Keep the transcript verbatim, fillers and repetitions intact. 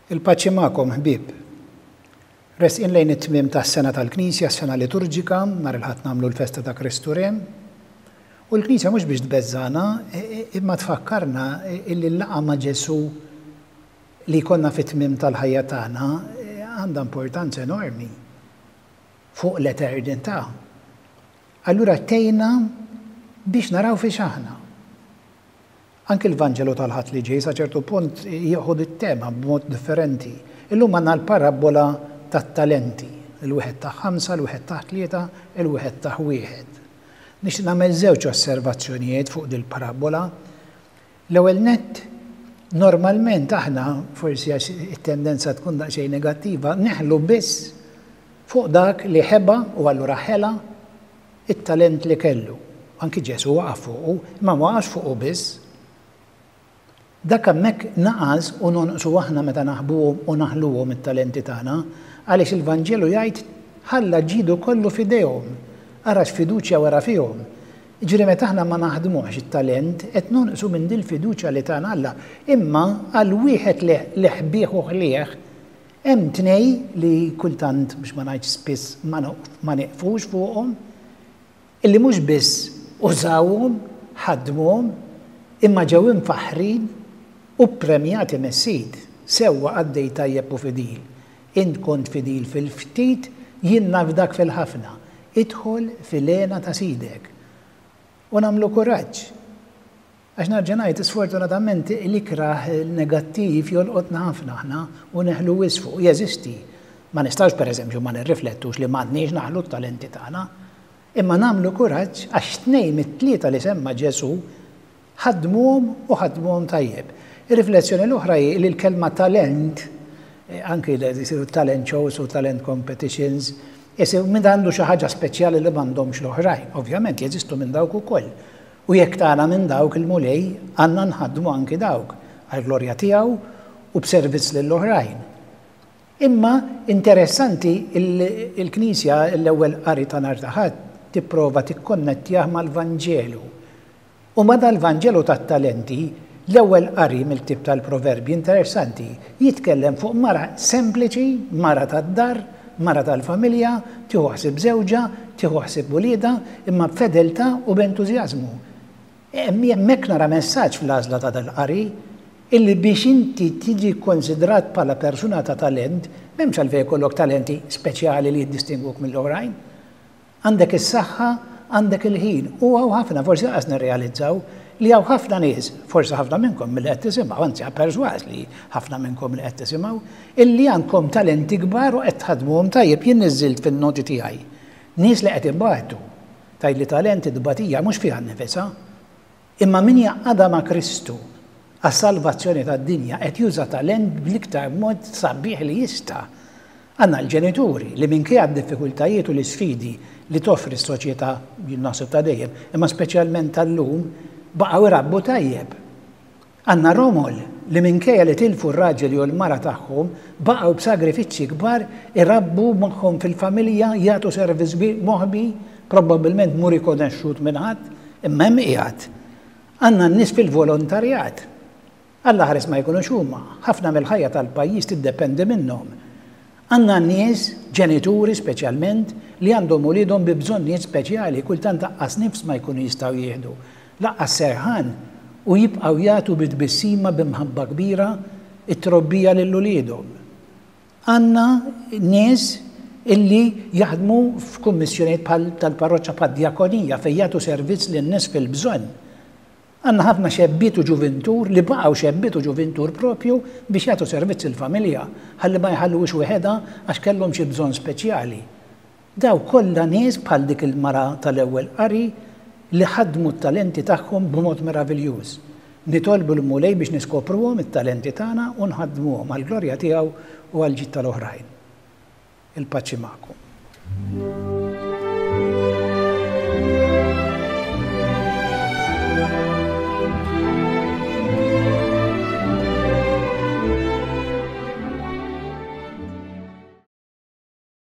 Il-paċi magħkom, ħbieb. Resqin lejn it-tmiem tas-sena tal-Knisja, s-sena liturġika, nhar il-Ħadd nagħmlu l-festa ta' Kristu Re. U l-Knisja mhux biex tbeżżana, imma tfakkarna illi l-laqgħa ma' Ġesù li jkollna fit-tmiem tal-ħajja tagħna għandha importanza enormi fuq l-eternità. Allura tgħinna biex naraw fiex aħna. Anki l-Vanġelu tal-Ħadd li ġej sa ċertu punt jieħu it-tema b'mod differenti. Illum għandna l-parabbola tat-talenti. Il-wieħed ta' ħamsa, il-wieħed ta' tlieta, il-wieħed ta' wieħed. Nixtieq nagħmel żewġ osservazzjonijiet fuq dil-parabbola. L-ewwel nett, normalment aħna, forsi għax it-tendenza tkun daqsxejn negattiva, neħlu biss fuq dak li ħeba u allura ħela it-talent li kellu. Anki Ġesù waqaf fuqu, imma ma waqafx fuqu biss. Dak hemmhekk naqas u nonqsu aħna meta naħbuhom u naħluhom it-talenti tagħna, għaliex il-Vanġelu jgħid ħalla ġidu kollu f'idejhom, ara x'fiduċja wera fihom. Jiġifieri meta aħna ma naħdmuhx it-talent qed nonqsu minn dil-fiduċja li tana Alla. Imma għal wieħed li ħbih u ħlieh hemm tnej li kultant, biex ma ngħidx spiss, ma nieqfux fuqhom, illi mhux biss użawhom, ħadmuhom, imma ġew imfaħħrin u ppremjati mis-Sid. Sewwa qaddej tajjeb u fidil. Int kont fidil fil-ftit, jien nafdak fil-ħafna. Idħol fil-hena ta' sidek. U nagħmlu kuraġġ. Għax nerġa' ngħid, sfortunatament l-ikrah negattiv jolqotna ħafna aħna u neħlu wisq fuq. Jeżisti. Ma nistgħux pereżempju ma nirriflettux li m'għandniex naħlu t-talenti tagħna. Imma nagħmlu kuraġġ għax tnejn mit-tlieta li semma Ġesù ħadmuhom u ħadmuhom tajjeb. Ir-riflessjoni l-oħra hi li l-kelma talent, anki li jsiru talent shows u talent competitions, jisiru minn għandu xi ħaġa speċjali li m'għandhomx l-oħrajn. Ovvjament jeżistu minn dawk ukoll. U jekk tagħna minn dawk il-Mulej, għandna nħaddmu anki dawk għall-glorja tiegħu u b'servizz lill-oħrajn. Imma interessanti il-Knisja l-ewwel qari ta' nhar ta' Ħadd tipprova tikkonnettjah mal-Vanġelu. U ma dal-Vanġelu tat-talenti, l-ewwel qari mill-ktieb tal-Proverbji interessanti jitkellem fuq mara sempliċi, mara tad-dar, mara tal-familja, tieħu ħsieb żewġha, tieħu ħsieb uliedha, imma b'fedeltà u b'entużjażmu. Hemmhekk nara messaġġ fl-għażla ta' dal-qari illi biex inti tiġi konsidrat bħala persuna ta' talent, m'hemmx għalfejn jkollok talenti speċjali li jiddistingwuk mill-oħrajn. Għandek is-saħħa, għandek il-ħin, u hawn ħafna, forsi lanqas nirrealizzaw li hawn ħafna nies, forsi ħafna minnkom milli qed tisimgħu, anzi persważ li ħafna minnkom li qed tisimgħu, illi għandkom talenti kbar u qed tħaddmuhom tajjeb. Jien niżżilt fin-noti tiegħi. Nies li qed ibatu, tgħid li talent id-tbatija mhux fiha nnifisha, imma min jaqgħadha ma' Kristu għas-salvazzjoni tad-dinja qed juża talent bl-iktar mod sabiħ li jista'. Għandna l-ġenituri li minkejja d-diffikultajiet u l-isfidi li toffri s-soċjetà, jien naħseb ta' dejjem, imma speċjalment tal-lum, baqgħu jrabbu tajjeb. Għandna romol li minkejja li tilfu r-raġel jew l-mara tagħhom, baqgħu b'sagrifiċċji kbar irabbu magħhom fil-familja, jagħtu servizz moħbi, probabbilment mhu rikonoxxut minn ħadd, imma hemm qiegħed. Għandna n-nies fil-volontarjat. Alla ħares ma jkunux huma, ħafna mill-ħajja tal-pajjiż tiddependi minnhom. Għandna nies, ġenituri speċjalment, li għandhom uliedhom bi bżonnijiet speċjali, kultant laqqas nifs ma jkunu jistgħu jieħdu, laqqas serħan, u jibqgħu jagħtu bi tbissima b'imħabba kbira it-trobbija lil uliedhom. Għandna nies illi jaħdmu f'kummissjonijiet bħal tal-parroċċa bħad-djakonija fejn jagħtu servizz lin-nies fil-bżonn. Għandna ħafna xebbiet u ġuvintur li baqgħu xebbiet u ġuvintur propju biex jagħtu servizz il-familja, ħalli ma jħalluhiex weħedha għax kellhom xi bżonn speċjali. Daw kollha nies bħal dik il-mara tal-ewwel qari li ħadmu t-talenti tagħhom b'mod meraviljuż. Nitolbu l-Mulej biex niskopruhom it-talenti tagħna u nħaddmuhom għall-glorja tiegħu u għall-ġid tal-oħrajn. Il-paċi magħkom.